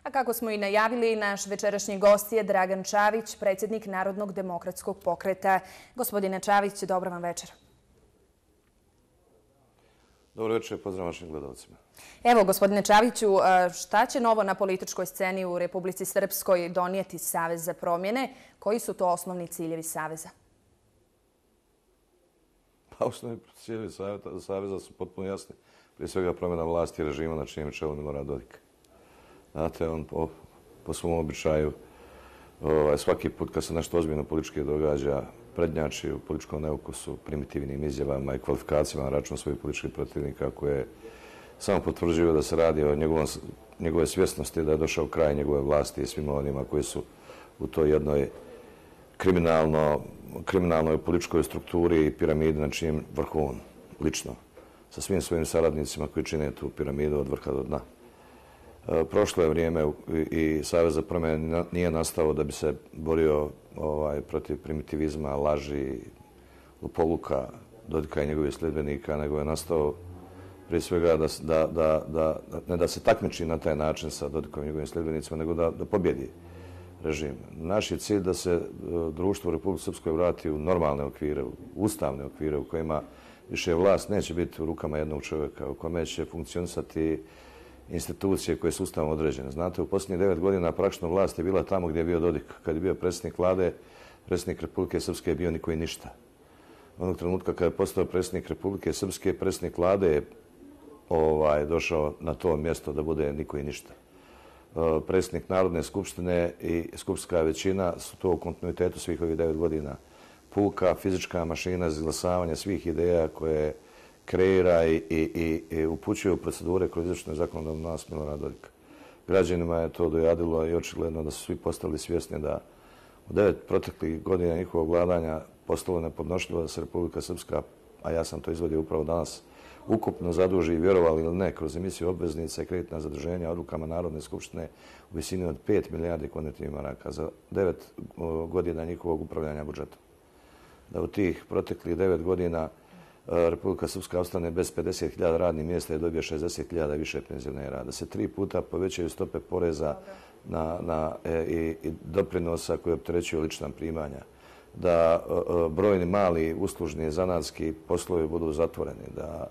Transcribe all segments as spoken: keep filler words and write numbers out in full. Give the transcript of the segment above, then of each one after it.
A kako smo i najavili, naš večerašnji gost je Dragan Čavić, predsjednik Narodnog demokratskog pokreta. Gospodine Čavić, dobro vam večer. Dobro večer, pozdrav vašim gledalcima. Evo, gospodine Čaviću, šta će novo na političkoj sceni u Republici Srpskoj donijeti Savez za promjene? Koji su to osnovni ciljevi Saveza? Pa, osnovni ciljevi Saveza su potpuno jasni. Prije svega promjena vlasti i režima na čijem čelu Milorad Dodik. Znate, on po, po svom običaju ovaj, svaki put kad se nešto ozbiljno politički događa, prednjači u političkom neukusu, primitivnim izjavama i kvalifikacijama na račun svojih političkih protivnika koje samo potvrđuju da se radi o njegovom, njegove svjesnosti da je došao kraj njegove vlasti i svima onima koji su u toj jednoj kriminalno, kriminalnoj političkoj strukturi i piramidi na čijem vrhu on lično sa svim svojim saradnicima koji čine tu piramidu od vrha do dna. Prošlo je vrijeme i Savez za promjene nije nastao da bi se borio ovaj, protiv primitivizma, laži, lopoluka Dodika i njegovih sljedbenika, nego je nastao prije svega da, da, da, da, ne da se takmiči na taj način sa Dodikom i njegovim sljedbenicima, nego da, da pobjedi režim. Naš je cilj da se društvo u Republici Srpskoj vrati u normalne okvire, u ustavne okvire u kojima više vlast neće biti u rukama jednog čovjeka, u kome će funkcionisati institucije koje su ustavno određene. Znate, u posljednjih devet godina praktično vlast je bila tamo gdje je bio Dodik. Kad je bio predsjednik vlade, predsjednik Republike Srpske je bio niko i ništa. Onog trenutka kada je postao predsjednik Republike Srpske, predsjednik vlade je ovaj, došao na to mjesto da bude niko i ništa. Predsjednik Narodne skupštine i skupštinska većina su to u kontinuitetu svih ovih devet godina. Puka, fizička mašina za izglasavanje svih ideja koje kreira i, i, i, i upućuje u procedure kroz izvršnu i zakonodavnu vlast Milorada Dodika. Građanima je to dojadilo i očigledno da su svi postali svjesni da u devet proteklih godina njihovog vladanja postalo nepodnošljivo da se Republika Srpska, a ja sam to izvodio upravo danas, ukupno zaduži, vjerovali ili ne, kroz emisiju obveznica i kreditna zaduženja odlukama Narodne skupštine u visini od pet milijardi konvertibilnih maraka za devet godina njihovog upravljanja budžetom. Da u tih proteklih devet godina Republika Srpska ostane bez pedeset hiljada radnih mjesta i dobije šezdeset hiljada više penzionera. Da se tri puta povećaju stope poreza na, na, e, i, i doprinosa koje opterećuju lična primanja. Da e, brojni mali uslužni zanatski poslovi budu zatvoreni. Da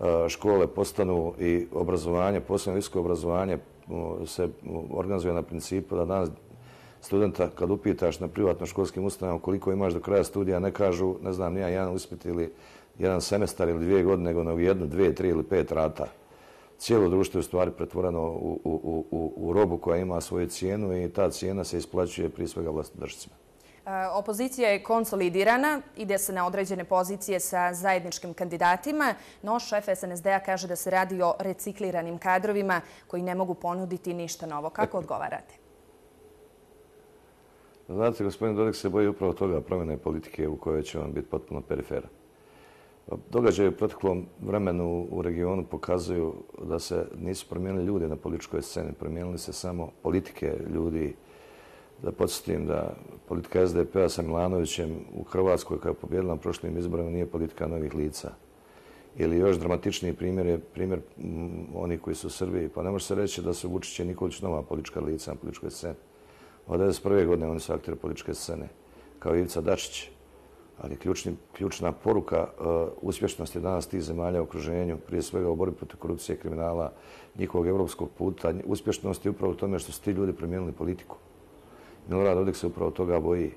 e, škole postanu i obrazovanje, posebno visoko obrazovanje se organizuje na principu da danas studenta kad upitaš na privatno školskim ustanovama koliko imaš do kraja studija, ne kažu, ne znam, nija jedan ispit ili jedan semestar ili dvije godine, nego na jednu, dvije, tri ili pet rata. Cijelo društvo je u stvari pretvoreno u, u, u, u robu koja ima svoju cijenu i ta cijena se isplaćuje prije svega vlastodržcima. Opozicija je konsolidirana, ide se na određene pozicije sa zajedničkim kandidatima, no šef S N S D-a kaže da se radi o recikliranim kadrovima koji ne mogu ponuditi ništa novo. Kako odgovarate? Znate, gospodin Dodik se boji upravo toga promjene politike u kojoj će on biti potpuno perifera. Događaje u proteklom vremenu u regionu pokazuju da se nisu promijenili ljudi na političkoj sceni, promijenili se samo politike ljudi. Da podsjetim da politika S D P-a sa Milanovićem u Hrvatskoj koja je pobjedila na prošlim izborima nije politika novih lica. Ili još dramatičniji primjer je primjer onih koji su u Srbiji. Pa ne može se reći da su Vučić i Nikolić nova politička lica na političkoj sceni. Od devedeset prve godine oni su akteri političke scene, kao Ivica Dačić. Ali ključni, ključna poruka uh, uspješnosti danas tih zemalja u okruženju, prije svega u borbi protiv korupcije i kriminala, njihovog evropskog puta, uspješnosti je upravo u tome što su ti ljudi promijenili politiku. Milorad Dodik se upravo toga boji.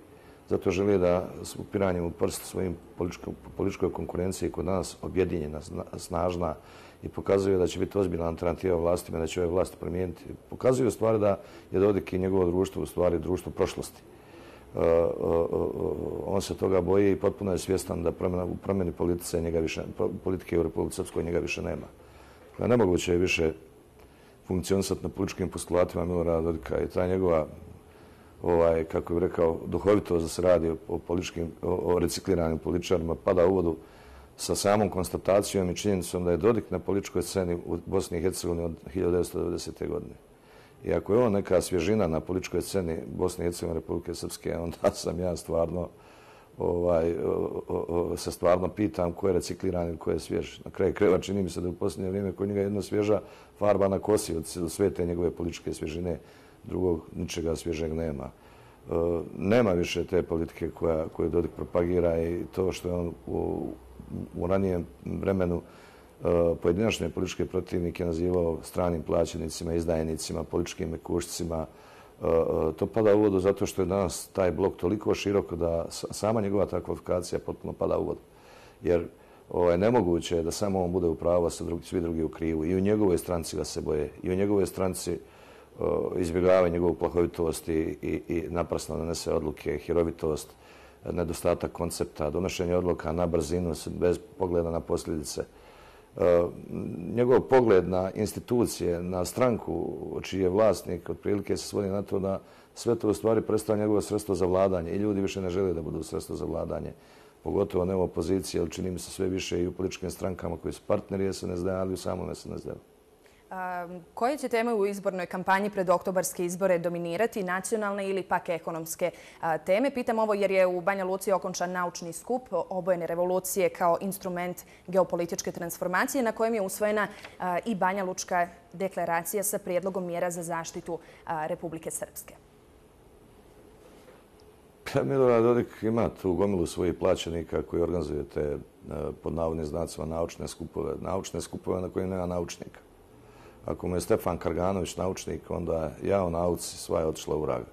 Zato želi da s upiranjem u prst svojim političkoj, političkoj konkurenciji koja danas objedinjena, snažna i pokazuje da će biti ozbiljna alternativa vlastima, da će ove vlasti promijeniti. Pokazuje u stvari da je Dodik i njegovo društvo u stvari društvo prošlosti. Uh, uh, uh, on se toga boji i potpuno je svjestan da promjena, u promjeni politice njega više, politike u Republici Srpskoj njega više nema. Dakle, nemoguće je više funkcionisati na političkim postulatima Milorada Dodika i ta njegova, ovaj, kako bih rekao, duhovitost da se radi o, o, političkim, o, o recikliranim političarima pada u vodu sa samom konstatacijom i činjenicom da je Dodik na političkoj sceni u Bosni i Hercegovini od hiljadu devetsto devedesete. godine. I ako je on neka svježina na političkoj sceni Bosne i Hercegovine Republike Srpske, onda sam ja stvarno se stvarno pitam ko je recikliran ili ko je svjež. Na kraju krajeva čini mi se da u posljednje vrijeme kod njega jedna svježa farba na kosi od sve te njegove političke svježine, drugog ničega svježeg nema. Nema više te politike koju Dodik propagira i to što je on u ranijem vremenu pojedinačne političke protivnike nazivao stranim plaćenicima, izdajnicima, političkim mekušcima. To pada u vodu zato što je danas taj blok toliko široko da sama njegova ta kvalifikacija potpuno pada u vodu. Jer nemoguće je da samo on bude u pravu, a svi drugi u krivu. I u njegovoj stranci ga se boje. I u njegovoj stranci izbjegavaju njegovu plahovitost i naprasno donese odluke, hirovitost, nedostatak koncepta, donošenje odluka na brzinu bez pogleda na posljedice. Njegov pogled na institucije, na stranku čiji je vlasnik, otprilike se svodi na to da sve to u stvari predstavlja njegovo sredstvo za vladanje i ljudi više ne žele da budu sredstvo za vladanje. Pogotovo ne u opoziciji, ali čini mi se sve više i u političkim strankama koji su partneri es en es de, ali u samom es en es de. Koje će teme u izbornoj kampanji pred oktobarske izbore dominirati, nacionalne ili pak ekonomske teme? Pitam ovo jer je u Banja Luci okončan naučni skup obojene revolucije kao instrument geopolitičke transformacije na kojem je usvojena i Banja Lučka deklaracija sa prijedlogom mjera za zaštitu Republike Srpske. Milorad Dodik ima tu gomilu svojih plaćenika koji organizuju te pod navodnim znacima naučne skupove. Naučne skupove na kojim nema naučnika. Ako mu je Stefan Karganović naučnik, onda ja o nauci sva je otišla u vrag.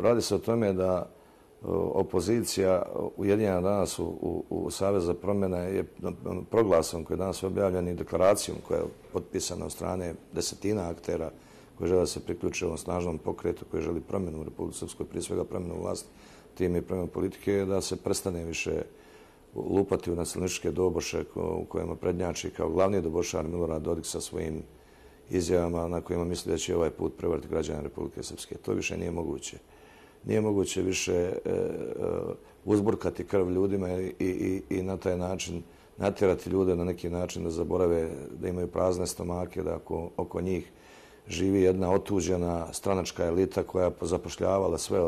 Radi se o tome da opozicija ujedinjena danas u Savez za promjene je proglasom koji je danas objavljen i deklaracijom koja je potpisana od strane desetina aktera koji žele da se priključe ovom snažnom pokretu koji želi promjenu u Republici Srpskoj, prije svega promjenu vlasti, time i promjenu politike, da se prestane više lupati u nacionalističke doboše u kojima prednjači kao glavni dobošar Milorad Dodik sa svojim izjavama na kojima misli da će ovaj put prevariti građane Republike Srpske. To više nije moguće. Nije moguće više uzburkati krv ljudima i na taj način natjerati ljude na neki način da zaborave da imaju prazne stomake, da oko njih živi jedna otuđena stranačka elita koja je zapošljavala sve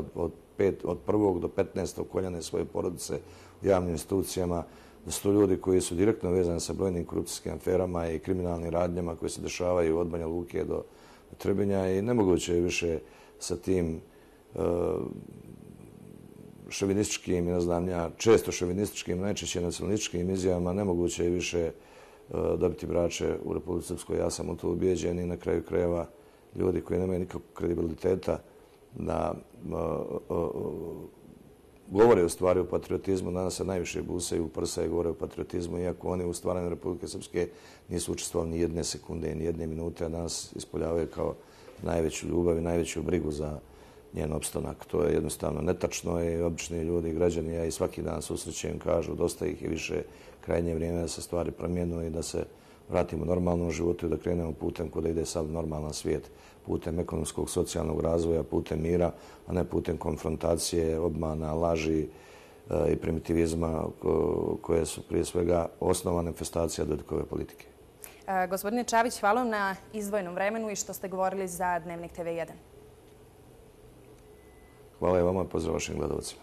od prvog do petnaestog koljene svoje porodice u javnim institucijama, da su to ljudi koji su direktno vezani sa brojnim korupcijskim aferama i kriminalnim radnjama koje se dešavaju od Banja Luke do Trebinja i nemoguće je više sa tim šovinističkim, ne znam ja, često šovinističkim, najčešće nacionalističkim izjavama, nemoguće je više dobiti braće u Republici Srpskoj. Ja sam u to ubijeđen i na kraju krajeva ljudi koji nemaju nikakvog kredibiliteta da govore u stvari o patriotizmu, danas se najviše busaju u prsa i govore o patriotizmu, iako oni u stvaranju Republike Srpske nisu učestvovali ni jedne sekunde, ni jedne minute, a danas ispoljavaju kao najveću ljubav i najveću brigu za njen opstanak. To je jednostavno netačno i obični ljudi i građani, ja i svaki dan susrećem, kažu dosta ih je više, krajnje vrijeme da se stvari promijenu i da se vratimo normalnom životu i da krenemo putem kuda ide sad normalan svijet, putem ekonomskog, socijalnog razvoja, putem mira, a ne putem konfrontacije, obmana, laži i primitivizma koje su prije svega osnova manifestacija Dodikove politike. Gospodine Čavić, hvala vam na izdvojenom vremenu i što ste govorili za Dnevnik te ve jedan. Hvala i vama i pozdrav vašim gledalcima.